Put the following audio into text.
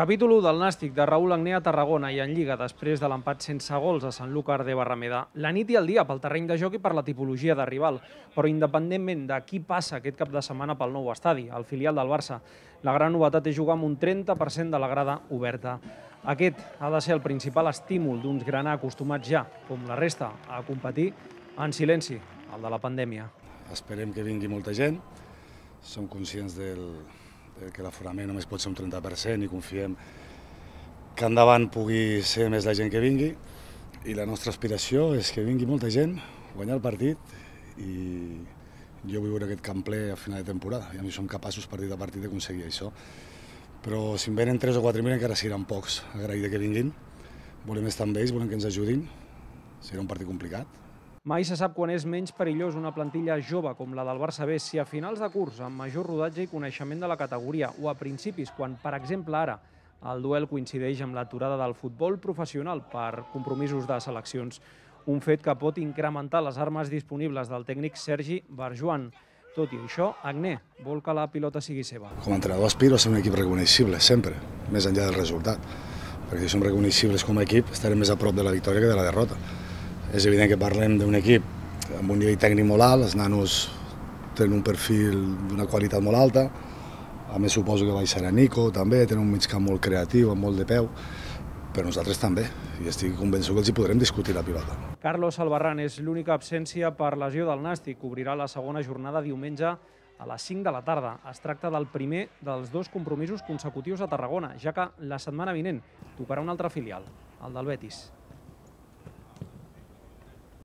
Capítol 1 del Nàstic de Raúl Agné a Tarragona i en Lliga després de l'empat sense gols a Sanlúcar de Barrameda. La nit i el dia pel terreny de joc i per la tipologia de rival, però independentment de qui passa aquest cap de setmana pel nou estadi, el filial del Barça, la gran novetat és jugar amb un 30% de la grada oberta. Aquest ha de ser el principal estímul d'uns granar acostumats ja, com la resta, a competir en silenci, el de la pandèmia. Esperem que vingui molta gent, som conscients que l'aforament només pot ser un 30% i confiem que endavant pugui ser més la gent que vingui, i la nostra aspiració és que vingui molta gent, guanyar el partit, i jo vull veure aquest camp ple a final de temporada, i a mi som capaços partit a partit d'aconseguir això. Però si en venen 3 o 4.000 encara seran pocs, agraït que vinguin, volem estar amb ells, volem que ens ajudin, serà un partit complicat. Mai se sap quan és menys perillós una plantilla jove com la del Barça B, si a finals de curs, amb major rodatge i coneixement de la categoria, o a principis, quan, per exemple, ara, el duel coincideix amb l'aturada del futbol professional per compromisos de seleccions. Un fet que pot incrementar les armes disponibles del tècnic Sergi Barjuan. Tot i això, Agné vol que la pilota sigui seva. Com a entrenador aspiro a ser un equip reconeixible, sempre, més enllà del resultat. Perquè si som reconeixibles com a equip, estarem més a prop de la victòria que de la derrota. És evident que parlem d'un equip amb un nivell tècnic molt alt, els nanos tenen un perfil d'una qualitat molt alta, a més suposo que baixarà Nico també, tenen un migcamp molt creatiu, amb molt de peu, però nosaltres també, i estic convençut que els hi podrem discutir la pilota. Carlos Albarrán és l'única absència per lesió del Nàstic, obrirà la segona jornada diumenge a les 5 de la tarda. Es tracta del primer dels 2 compromisos consecutius a Tarragona, ja que la setmana vinent tocarà un altre filial, el del Betis.